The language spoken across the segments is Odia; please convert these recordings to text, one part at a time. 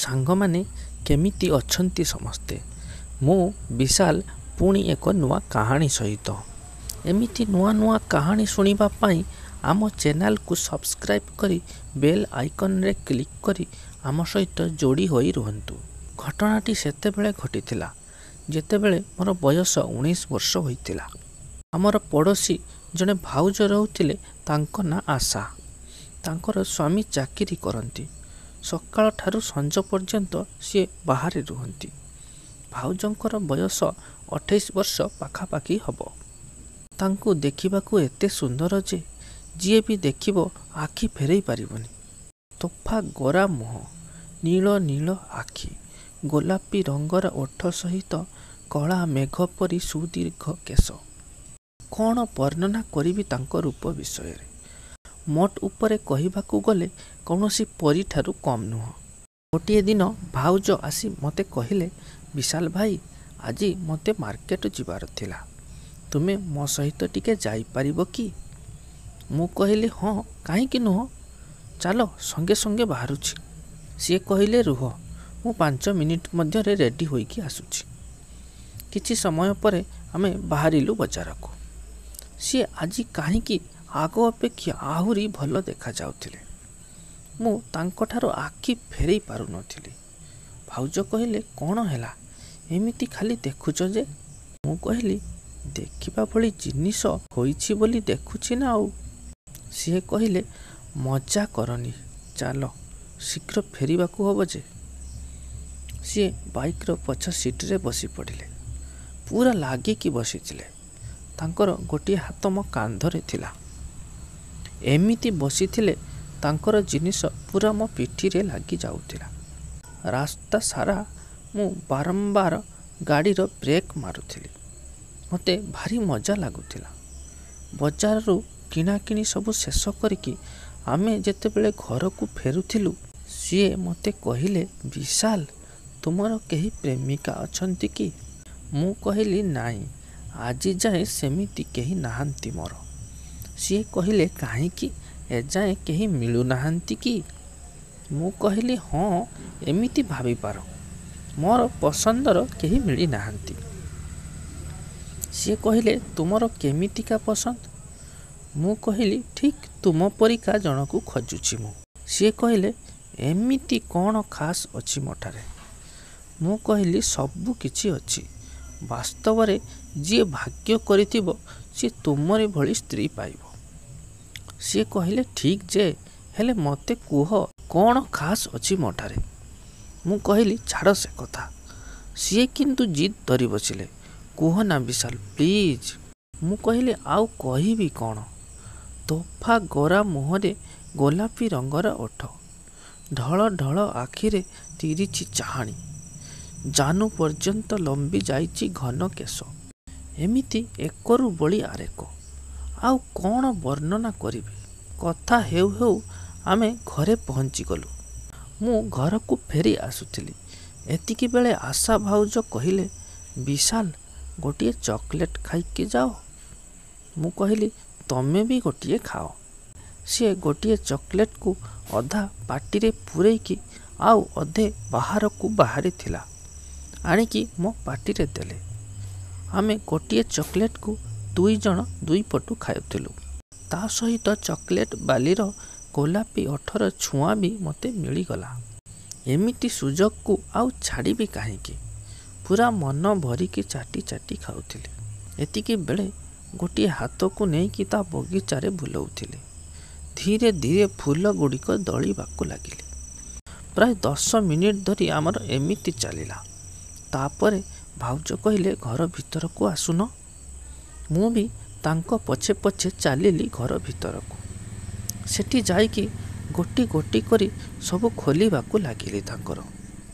ସାଙ୍ଗମାନେ, କେମିତି ଅଛନ୍ତି ସମସ୍ତେ? ମୁଁ ବିଶାଲ, ପୁଣି ଏକ ନୂଆ କାହାଣୀ ସହିତ। ଏମିତି ନୂଆ ନୂଆ କାହାଣୀ ଶୁଣିବା ପାଇଁ ଆମ ଚ୍ୟାନେଲକୁ ସବସ୍କ୍ରାଇବ୍ କରି ବେଲ୍ ଆଇକନ୍ରେ କ୍ଲିକ୍ କରି ଆମ ସହିତ ଯୋଡ଼ି ହୋଇ ରୁହନ୍ତୁ। ଘଟଣାଟି ସେତେବେଳେ ଘଟିଥିଲା, ଯେତେବେଳେ ମୋର ବୟସ 19 ବର୍ଷ ହୋଇଥିଲା। ଆମର ପଡ଼ୋଶୀ ଜଣେ ଭାଉଜ ରହୁଥିଲେ, ତାଙ୍କ ନାଁ ଆଶା। ତାଙ୍କର ସ୍ୱାମୀ ଚାକିରି କରନ୍ତି। ସକାଳଠାରୁ ସଞ୍ଜ ପର୍ଯ୍ୟନ୍ତ ସିଏ ବାହାରେ ରୁହନ୍ତି। ଭାଉଜଙ୍କର ବୟସ 28 ବର୍ଷ ପାଖାପାଖି ହେବ। ତାଙ୍କୁ ଦେଖିବାକୁ ଏତେ ସୁନ୍ଦର ଯେ ଯିଏ ବି ଦେଖିବ ଆଖି ଫେରେଇ ପାରିବନି। ତୋଫା ଗୋରା ମୁହଁ, ନୀଳ ନୀଳ ଆଖି, ଗୋଲାପୀ ରଙ୍ଗର ଓଠ ସହିତ କଳା ମେଘ ପରି ସୁଦୀର୍ଘ କେଶ। କ'ଣ ବର୍ଣ୍ଣନା କରିବି ତାଙ୍କ ରୂପ ବିଷୟରେ? ମୋଟ ଉପରେ କହିବାକୁ ଗଲେ କୌଣସି ପରୀଠାରୁ କମ୍ ନୁହଁ। ଗୋଟିଏ ଦିନ ଭାଉଜ ଆସି ମୋତେ କହିଲେ, ବିଶାଲ ଭାଇ, ଆଜି ମୋତେ ମାର୍କେଟ ଯିବାର ଥିଲା, ତୁମେ ମୋ ସହିତ ଟିକେ ଯାଇପାରିବ କି? ମୁଁ କହିଲି, ହଁ, କାହିଁକି ନୁହଁ, ଚାଲ, ସଙ୍ଗେ ସଙ୍ଗେ ବାହାରୁଛି। ସିଏ କହିଲେ, ରୁହ, ମୁଁ 5 ମିନିଟ୍ ମଧ୍ୟରେ ରେଡ଼ି ହୋଇକି ଆସୁଛି। କିଛି ସମୟ ପରେ ଆମେ ବାହାରିଲୁ ବଜାରକୁ। ସିଏ ଆଜି କାହିଁକି ଆଗ ଅପେକ୍ଷା ଆହୁରି ଭଲ ଦେଖାଯାଉଥିଲେ। ମୁଁ ତାଙ୍କଠାରୁ ଆଖି ଫେରେଇ ପାରୁନଥିଲି। ଭାଉଜ କହିଲେ, କ'ଣ ହେଲା, ଏମିତି ଖାଲି ଦେଖୁଛ ଯେ? ମୁଁ କହିଲି, ଦେଖିବା ଭଳି ଜିନିଷ ହୋଇଛି ବୋଲି ଦେଖୁଛି ନା ଆଉ। ସିଏ କହିଲେ, ମଜା କରନି, ଚାଲ, ଶୀଘ୍ର ଫେରିବାକୁ ହେବ ଯେ। ସିଏ ବାଇକ୍ର ପଛ ସିଟ୍ରେ ବସି ପଡ଼ିଲେ। ପୁରା ଲାଗିକି ବସିଥିଲେ। ତାଙ୍କର ଗୋଟିଏ ହାତ ମୋ କାନ୍ଧରେ ଥିଲା। ଏମିତି ବସିଥିଲେ ତାଙ୍କର ଜିନିଷ ପୁରା ମୋ ପିଠିରେ ଲାଗି ଯାଉଥିଲା। ରାସ୍ତା ସାରା ମୁଁ ବାରମ୍ବାର ଗାଡ଼ିର ବ୍ରେକ୍ ମାରୁଥିଲି। ମୋତେ ଭାରି ମଜା ଲାଗୁଥିଲା। ବଜାରରୁ କିଣାକିଣି ସବୁ ଶେଷ କରିକି ଆମେ ଯେତେବେଳେ ଘରକୁ ଫେରୁଥିଲୁ, ସିଏ ମୋତେ କହିଲେ, ବିଶାଲ, ତୁମର କେହି ପ୍ରେମିକା ଅଛନ୍ତି କି? ମୁଁ କହିଲି, ନାଇଁ, ଆଜି ଯାଏଁ ସେମିତି କେହି ନାହାନ୍ତି ମୋର। ସିଏ କହିଲେ, କାହିଁକି, ଏଯାଏଁ କେହି ମିଳୁନାହାନ୍ତି କି? ମୁଁ କହିଲି, ହଁ, ଏମିତି ଭାବିପାର, ମୋର ପସନ୍ଦର କେହି ମିଳିନାହାନ୍ତି। ସିଏ କହିଲେ, ତୁମର କେମିତିକା ପସନ୍ଦ? ମୁଁ କହିଲି, ଠିକ୍ ତୁମ ପରିକା ଜଣକୁ ଖୋଜୁଛି ମୁଁ। ସିଏ କହିଲେ, ଏମିତି କ'ଣ ଖାସ୍ ଅଛି ମୋଠାରେ? ମୁଁ କହିଲି, ସବୁ କିଛି ଅଛି। ବାସ୍ତବରେ ଯିଏ ଭାଗ୍ୟ କରିଥିବ ସିଏ ତୁମରି ଭଳି ସ୍ତ୍ରୀ ପାଇବ। ସିଏ କହିଲେ, ଠିକ୍ ଯେ, ହେଲେ ମୋତେ କୁହ କ'ଣ ଖାସ୍ ଅଛି ମୋଠାରେ? ମୁଁ କହିଲି, ଛାଡ଼ ସେ କଥା। ସିଏ କିନ୍ତୁ ଜିଦ୍ ଧରି ବସିଲେ, କୁହ ନା ବିଶାଲ, ପ୍ଲିଜ୍। ମୁଁ କହିଲି, ଆଉ କହିବି କ'ଣ? ତୋଫା ଗୋରା ମୁହଁରେ ଗୋଲାପୀ ରଙ୍ଗର ଓଠ, ଢଳ ଢଳ ଆଖିରେ ତିରିଛି ଚାହାଣୀ, ଜାନୁ ପର୍ଯ୍ୟନ୍ତ ଲମ୍ବି ଯାଇଛି ଘନ କେଶ। ଏମିତି ଏକରୁ ବଳି ଆରେକ। ଆଉ କ'ଣ ବର୍ଣ୍ଣନା କରିବି? କଥା ହେଉ ହେଉ ଆମେ ଘରେ ପହଞ୍ଚିଗଲୁ। ମୁଁ ଘରକୁ ଫେରି ଆସୁଥିଲି, ଏତିକିବେଳେ ଆଶା ଭାଉଜ କହିଲେ, ବିଶାଲ, ଗୋଟିଏ ଚକୋଲେଟ୍ ଖାଇକି ଯାଅ। ମୁଁ କହିଲି, ତମେ ବି ଗୋଟିଏ ଖାଅ। ସିଏ ଗୋଟିଏ ଚକୋଲେଟ୍କୁ ଅଧା ପାଟିରେ ପୂରେଇକି ଆଉ ଅଧେ ବାହାରକୁ ବାହାରିଥିଲା, ଆଣିକି ମୋ ପାଟିରେ ଦେଲେ। ଆମେ ଗୋଟିଏ ଚକୋଲେଟ୍କୁ ଦୁଇ ଜଣ ଦୁଇପଟୁ ଖାଉଥିଲୁ। ତା ସହିତ ଚକୋଲେଟ୍ ବାଲିର ଗୋଲାପୀ ଓଠର ଛୁଆଁ ବି ମୋତେ ମିଳିଗଲା। ଏମିତି ସୁଯୋଗକୁ ଆଉ ଛାଡ଼ିବି କାହିଁକି? ପୁରା ମନ ଭରିକି ଚାଟି ଚାଟି ଖାଉଥିଲି। ଏତିକି ବେଳେ ଗୋଟିଏ ହାତକୁ ନେଇକି ତା ବଗିଚାରେ ବୁଲଉଥିଲି। ଧୀରେ ଧୀରେ ଫୁଲ ଗୁଡ଼ିକ ଦଳିବାକୁ ଲାଗିଲି। ପ୍ରାୟ 10 ମିନିଟ୍ ଧରି ଆମର ଏମିତି ଚାଲିଲା। ତାପରେ ଭାଉଜ କହିଲେ, ଘର ଭିତରକୁ ଆସୁନ। ମୁଁ ବି ତାଙ୍କ ପଛେ ପଛେ ଚାଲିଲି ଘର ଭିତରକୁ। ସେଠି ଯାଇକି ଗୋଟି ଗୋଟି କରି ସବୁ ଖୋଲିବାକୁ ଲାଗିଲି ତାଙ୍କର।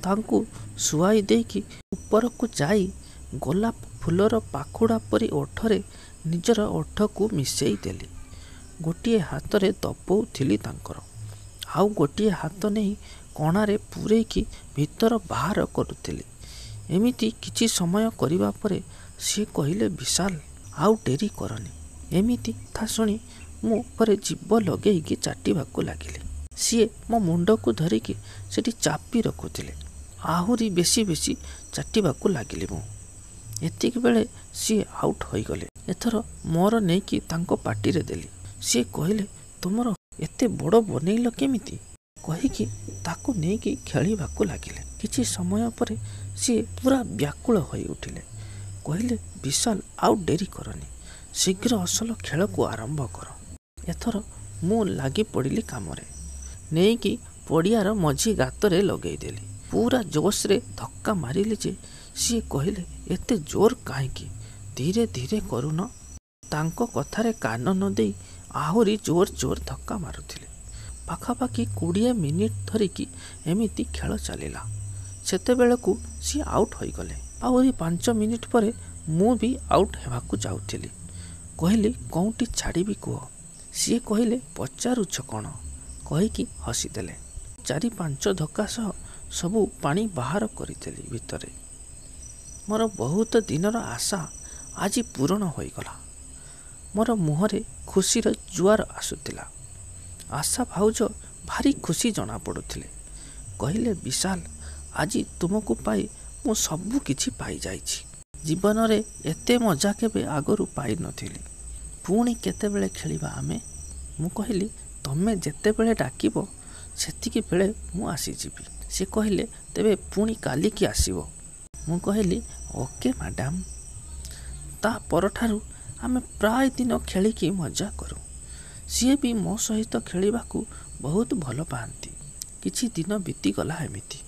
ତାଙ୍କୁ ଶୁଆଇ ଦେଇକି ଉପରକୁ ଯାଇ ଗୋଲାପ ଫୁଲର ପାଖୁଡ଼ା ପରି ଓଠରେ ନିଜର ଓଠକୁ ମିଶେଇ ଦେଲି। ଗୋଟିଏ ହାତରେ ଦବଉଥିଲି ତାଙ୍କର, ଆଉ ଗୋଟିଏ ହାତ ନେଇ କଣାରେ ପୂରେଇକି ଭିତର ବାହାର କରୁଥିଲି। ଏମିତି କିଛି ସମୟ କରିବା ପରେ ସିଏ କହିଲେ, ବିଶାଲ, ଆଉ ଡେରି କରନି। ଏମିତି କଥା ଶୁଣି ମୁଁ ପରେ ଜିଭ ଲଗେଇକି ଚାଟିବାକୁ ଲାଗିଲି। ସିଏ ମୋ ମୁଣ୍ଡକୁ ଧରିକି ସେଠି ଚାପି ରଖୁଥିଲେ। ଆହୁରି ବେଶୀ ବେଶୀ ଚାଟିବାକୁ ଲାଗିଲି ମୁଁ। ଏତିକି ବେଳେ ସିଏ ଆଉଟ୍ ହୋଇଗଲେ। ଏଥର ମୋର ନେଇକି ତାଙ୍କ ପାଟିରେ ଦେଲି। ସିଏ କହିଲେ, ତୁମର ଏତେ ବଡ଼ ବନେଇଲ କେମିତି? କହିକି ତାକୁ ନେଇକି ଖେଳିବାକୁ ଲାଗିଲେ। କିଛି ସମୟ ପରେ ସିଏ ପୁରା ବ୍ୟାକୁଳ ହୋଇ ଉଠିଲେ। କହିଲେ, ବିଶାଲ, ଆଉ ଡେରି କରନି, ଶୀଘ୍ର ଅସଲ ଖେଳକୁ ଆରମ୍ଭ କର। ଏଥର ମୁଁ ଲାଗି ପଡ଼ିଲି କାମରେ। ନେଇକି ପଡ଼ିଆର ମଝି ଗାତରେ ଲଗେଇଦେଲି। ପୁରା ଜୋସ୍ରେ ଧକ୍କା ମାରିଲି ଯେ ସିଏ କହିଲେ, ଏତେ ଜୋର କାହିଁକି, ଧୀରେ ଧୀରେ କରୁନ। ତାଙ୍କ କଥାରେ କାନ ନ ଦେଇ ଆହୁରି ଜୋର ଜୋର ଧକ୍କା ମାରୁଥିଲେ। ପାଖାପାଖି 20 ମିନିଟ୍ ଧରିକି ଏମିତି ଖେଳ ଚାଲିଲା। ସେତେବେଳକୁ ସିଏ ଆଉଟ୍ ହୋଇଗଲେ। ଆହୁରି 5 ମିନିଟ୍ ପରେ ମୁଁ ବି ଆଉଟ୍ ହେବାକୁ ଯାଉଥିଲି। କହିଲି, କେଉଁଠି ଛାଡ଼ିବି କୁହ। ସିଏ କହିଲେ, ପଚାରୁଛ କ'ଣ? କହିକି ହସିଦେଲେ। 4-5 ଧକ୍କା ସହ ସବୁ ପାଣି ବାହାର କରିଦେଲି ଭିତରେ। ମୋର ବହୁତ ଦିନର ଆଶା ଆଜି ପୂରଣ ହୋଇଗଲା। ମୋର ମୁହଁରେ ଖୁସିର ଜୁଆର ଆସୁଥିଲା। ଆଶା ଭାଉଜ ଭାରି ଖୁସି ଜଣାପଡ଼ୁଥିଲେ। କହିଲେ, ବିଶାଲ, ଆଜି ତୁମକୁ ପାଇ ମୁଁ ସବୁ କିଛି ପାଇଯାଇଛି। ଜୀବନରେ ଏତେ ମଜା କେବେ ଆଗରୁ ପାଇନଥିଲି। ପୁଣି କେତେବେଳେ ଖେଳିବା ଆମେ? ମୁଁ କହିଲି, ତମେ ଯେତେବେଳେ ଡାକିବ ସେତିକି ବେଳେ ମୁଁ ଆସିଯିବି। ସେ କହିଲେ, ତେବେ ପୁଣି କାଲିକି ଆସିବ। ମୁଁ କହିଲି, ଓକେ ମ୍ୟାଡ଼ାମ୍। ତା ପରଠାରୁ ଆମେ ପ୍ରାୟ ଦିନ ଖେଳିକି ମଜା କରୁ। ସିଏ ବି ମୋ ସହିତ ଖେଳିବାକୁ ବହୁତ ଭଲ ପାଆନ୍ତି। କିଛି ଦିନ ବିତିଗଲା ଏମିତି।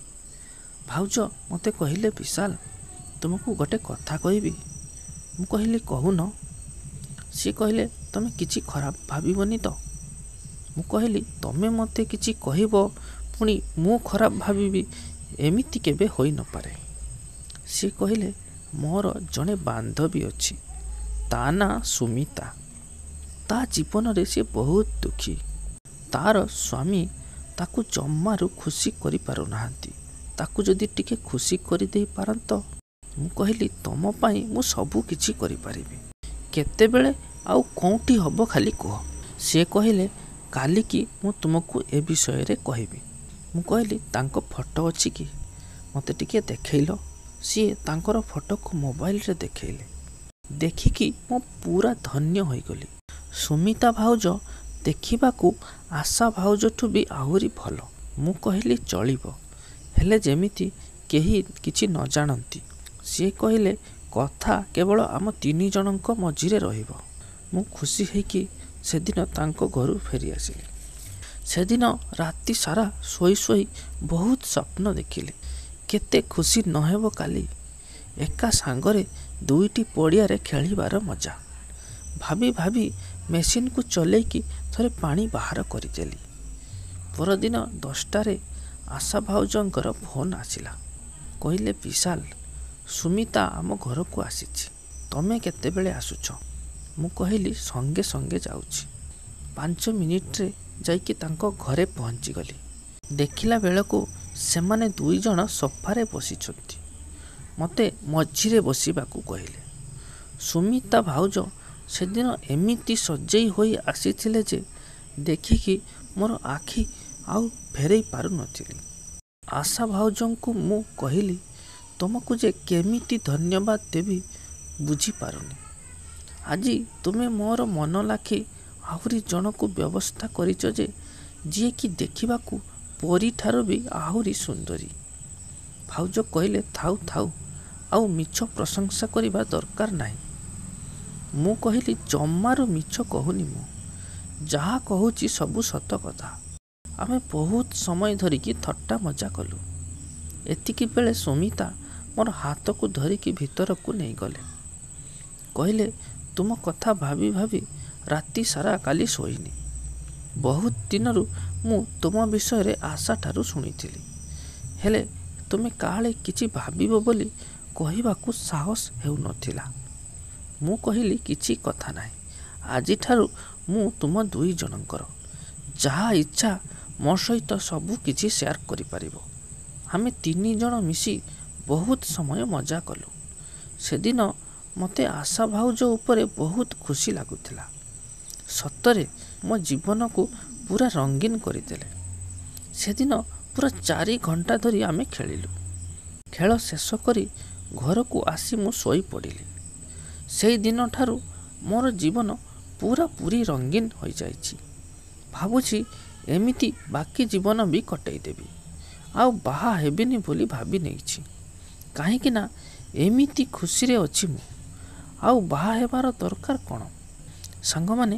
ଭାଉଜ ମୋତେ କହିଲେ, ବିଶାଲ, ତୁମକୁ ଗୋଟେ କଥା କହିବି। ମୁଁ କହିଲି, କହୁନ। ସିଏ କହିଲେ, ତମେ କିଛି ଖରାପ ଭାବିବନି ତ? ମୁଁ କହିଲି, ତମେ ମୋତେ କିଛି କହିବ ପୁଣି ମୁଁ ଖରାପ ଭାବିବି, ଏମିତି କେବେ ହୋଇନପାରେ। ସିଏ କହିଲେ, ମୋର ଜଣେ ବାନ୍ଧବୀ ଅଛି, ତା ନାଁ ସୁମିତା। ତା ଜୀବନରେ ସିଏ ବହୁତ ଦୁଃଖୀ। ତାର ସ୍ୱାମୀ ତାକୁ ଜମାରୁ ଖୁସି କରିପାରୁନାହାନ୍ତି। ତାକୁ ଯଦି ଟିକେ ଖୁସି କରିଦେଇ ପାରନ୍ତ। ମୁଁ କହିଲି, ତମ ପାଇଁ ମୁଁ ସବୁ କିଛି କରିପାରିବି। କେତେବେଳେ ଆଉ କେଉଁଠି ହେବ ଖାଲି କୁହ। ସିଏ କହିଲେ, କାଲିକି ମୁଁ ତୁମକୁ ଏ ବିଷୟରେ କହିବି। ମୁଁ କହିଲି, ତାଙ୍କ ଫଟୋ ଅଛି କି, ମୋତେ ଟିକେ ଦେଖେଇଲ। ସିଏ ତାଙ୍କର ଫଟୋକୁ ମୋବାଇଲରେ ଦେଖେଇଲେ। ଦେଖିକି ମୁଁ ପୁରା ଧନ୍ୟ ହୋଇଗଲି। ସୁମିତା ଭାଉଜ ଦେଖିବାକୁ ଆଶା ଭାଉଜଠୁ ବି ଆହୁରି ଭଲ। ମୁଁ କହିଲି, ଚଳିବ, ହେଲେ ଯେମିତି କେହି କିଛି ନ ଜାଣନ୍ତି। ସିଏ କହିଲେ, କଥା କେବଳ ଆମ 3 ଜଣଙ୍କ ମଝିରେ ରହିବ। ମୁଁ ଖୁସି ହେଇକି ସେଦିନ ତାଙ୍କ ଘରୁ ଫେରିଆସିଲି। ସେଦିନ ରାତି ସାରା ଶୋଇ ଶୋଇ ବହୁତ ସ୍ୱପ୍ନ ଦେଖିଲି। କେତେ ଖୁସି ନହେବ କାଲି ଏକା ସାଙ୍ଗରେ 2ଟି ପଡ଼ିଆରେ ଖେଳିବାର ମଜା। ଭାବି ଭାବି ମେସିନ୍କୁ ଚଲେଇକି ଥରେ ପାଣି ବାହାର କରିଦେଲି। ପରଦିନ 10ଟାରେ ଆଶା ଭାଉଜଙ୍କର ଫୋନ୍ ଆସିଲା। କହିଲେ, ବିଶାଲ, ସୁମିତା ଆମ ଘରକୁ ଆସିଛି, ତମେ କେତେବେଳେ ଆସୁଛ? ମୁଁ କହିଲି, ସଙ୍ଗେ ସଙ୍ଗେ ଯାଉଛି। 5 ମିନିଟ୍ରେ ଯାଇକି ତାଙ୍କ ଘରେ ପହଞ୍ଚିଗଲି। ଦେଖିଲା ବେଳକୁ ସେମାନେ 2 ଜଣ ସୋଫାରେ ବସିଛନ୍ତି। ମୋତେ ମଝିରେ ବସିବାକୁ କହିଲେ। ସୁମିତା ଭାଉଜ ସେଦିନ ଏମିତି ସଜେଇ ହୋଇ ଆସିଥିଲେ ଯେ ଦେଖିକି ମୋର ଆଖି ଆଉ ଫେରେଇ ପାରୁନଥିଲି। ଆଶା ଭାଉଜଙ୍କୁ ମୁଁ କହିଲି, ତୁମକୁ ଯେ କେମିତି ଧନ୍ୟବାଦ ଦେବି ବୁଝିପାରୁନି। ଆଜି ତୁମେ ମୋର ମନ ଲାଖି ଆହୁରି ଜଣକୁ ବ୍ୟବସ୍ଥା କରିଛ ଯେ, ଯିଏକି ଦେଖିବାକୁ ପରୀଠାରୁ ବି ଆହୁରି ସୁନ୍ଦରୀ। ଭାଉଜ କହିଲେ, ଥାଉ ଥାଉ, ଆଉ ମିଛ ପ୍ରଶଂସା କରିବା ଦରକାର ନାହିଁ। ମୁଁ କହିଲି, ଜମାରୁ ମିଛ କହୁନି ମୁଁ, ଯାହା କହୁଛି ସବୁ ସତ କଥା। ଆମେ ବହୁତ ସମୟ ଧରିକି ଥଟ୍ଟା ମଜା କଲୁ। ଏତିକି ବେଳେ ସୁମିତା ମୋର ହାତକୁ ଧରିକି ଭିତରକୁ ନେଇଗଲେ। କହିଲେ, ତୁମ କଥା ଭାବି ଭାବି ରାତି ସାରା କାଲି ଶୋଇନି। ବହୁତ ଦିନରୁ ମୁଁ ତୁମ ବିଷୟରେ ଆଶାଠାରୁ ଶୁଣିଥିଲି, ହେଲେ ତୁମେ କାଳେ କିଛି ଭାବିବ ବୋଲି କହିବାକୁ ସାହସ ହେଉନଥିଲା। ମୁଁ କହିଲି, କିଛି କଥା ନାହିଁ, ଆଜିଠାରୁ ମୁଁ ତୁମ 2 ଜଣଙ୍କର, ଯାହା ଇଚ୍ଛା ମୋ ସହିତ ସବୁ କିଛି ସେୟାର କରିପାରିବ। ଆମେ 3 ଜଣ ମିଶି ବହୁତ ସମୟ ମଜା କଲୁ। ସେଦିନ ମୋତେ ଆଶା ଭାଉଜ ଉପରେ ବହୁତ ଖୁସି ଲାଗୁଥିଲା। ସତରେ ମୋ ଜୀବନକୁ ପୁରା ରଙ୍ଗୀନ କରିଦେଲେ। ସେଦିନ ପୁରା 4 ଘଣ୍ଟା ଧରି ଆମେ ଖେଳିଲୁ। ଖେଳ ଶେଷ କରି ଘରକୁ ଆସି ମୁଁ ଶୋଇପଡ଼ିଲି। ସେଇଦିନଠାରୁ ମୋର ଜୀବନ ପୁରାପୁରି ରଙ୍ଗୀନ ହୋଇଯାଇଛି। ଭାବୁଛି ଏମିତି ବାକି ଜୀବନ ବି କଟେଇଦେବି। ଆଉ ବାହା ହେବିନି ବୋଲି ଭାବି ନେଇଛି। କାହିଁକି ନା ଏମିତି ଖୁସିରେ ଅଛି ମୁଁ, ଆଉ ବାହା ହେବାର ଦରକାର କ'ଣ? ସାଙ୍ଗମାନେ,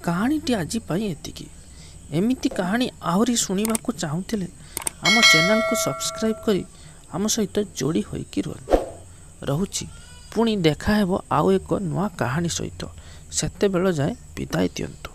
କାହାଣୀଟି ଆଜି ପାଇଁ ଏତିକି। ଏମିତି କାହାଣୀ ଆହୁରି ଶୁଣିବାକୁ ଚାହୁଁଥିଲେ ଆମ ଚ୍ୟାନେଲକୁ ସବସ୍କ୍ରାଇବ୍ କରି ଆମ ସହିତ ଯୋଡ଼ି ହୋଇକି ରୁହନ୍ତୁ। ରହୁଛି, ପୁଣି ଦେଖାହେବ ଆଉ ଏକ ନୂଆ କାହାଣୀ ସହିତ। ସେତେବେଳ ଯାଏଁ ବିଦାୟ ଦିଅନ୍ତୁ।